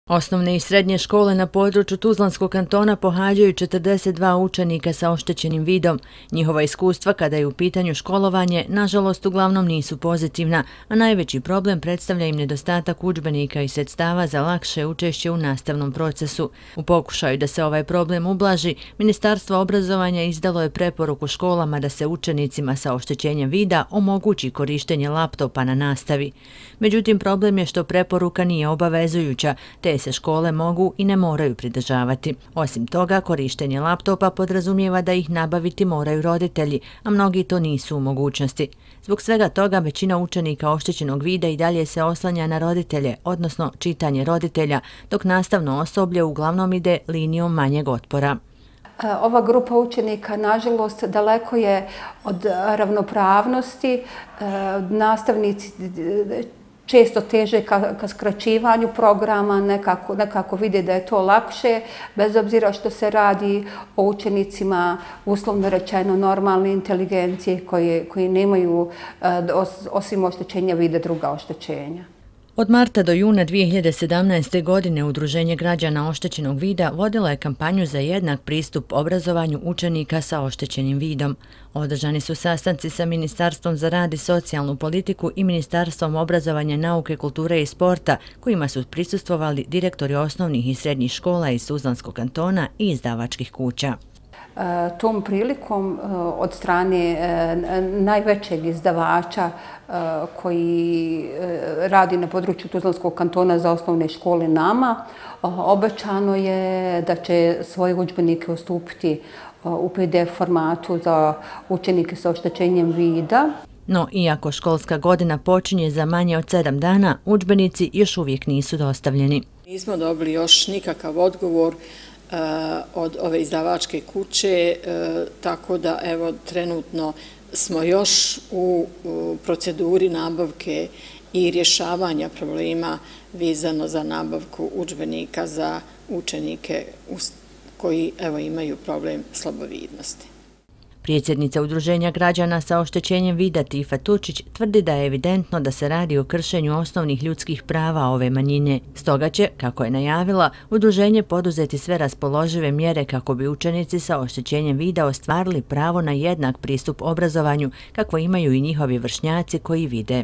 Osnovne i srednje škole na području Tuzlanskog kantona pohađaju 42 učenika sa oštećenim vidom. Njihova iskustva kada je u pitanju školovanje, nažalost, uglavnom nisu pozitivna, a najveći problem predstavlja im nedostatak udžbenika i sredstava za lakše učešće u nastavnom procesu. U pokušaju da se ovaj problem ublaži, Ministarstvo obrazovanja izdalo je preporuku školama da se učenicima sa oštećenjem vida omogući korištenje laptopa na nastavi. Međutim, problem je što preporuka nije obavezujuća, te se škole mogu i ne moraju pridržavati. Osim toga, korištenje laptopa podrazumijeva da ih nabaviti moraju roditelji, a mnogi to nisu u mogućnosti. Zbog svega toga, većina učenika oštećenog vida i dalje se oslanja na roditelje, odnosno čitanje roditelja, dok nastavno osoblje uglavnom ide linijom manjeg otpora. Ova grupa učenika, nažalost, daleko je od ravnopravnosti. Nastavnici često teže ka skraćivanju programa, nekako vide da je to lakše, bez obzira što se radi o učenicima, uslovno rečeno, normalne inteligencije koji nemaju, osim oštećenja vida, druga oštećenja. Od marta do juna 2017. godine Udruženje građana oštećenog vida vodilo je kampanju za jednak pristup obrazovanju učenika sa oštećenim vidom. Održani su sastanci sa Ministarstvom za rad i socijalnu politiku i Ministarstvom obrazovanja, nauke, kulture i sporta, kojima su prisustvovali direktori osnovnih i srednjih škola iz Tuzlanskog kantona i izdavačkih kuća. Tom prilikom od strane najvećeg izdavača koji radi na području Tuzlanskog kantona za osnovne škole nama, obećano je da će svoje udžbenike ustupiti u PDF formatu za učenike sa oštećenjem vida. No, iako školska godina počinje za manje od 7 dana, udžbenici još uvijek nisu dostavljeni. Nismo dobili još nikakav odgovor od ove izdavačke kuće, tako da evo trenutno smo još u proceduri nabavke i rješavanja problema vezano za nabavku udžbenika za učenike koji evo imaju problem slabovidnosti. Predsjednica Udruženja građana sa oštećenjem vida Tifa Tučić tvrdi da je evidentno da se radi o kršenju osnovnih ljudskih prava ove manjine. Stoga će, kako je najavila, udruženje poduzeti sve raspoložive mjere kako bi učenici sa oštećenjem vida ostvarili pravo na jednak pristup obrazovanju, kakvo imaju i njihovi vršnjaci koji vide.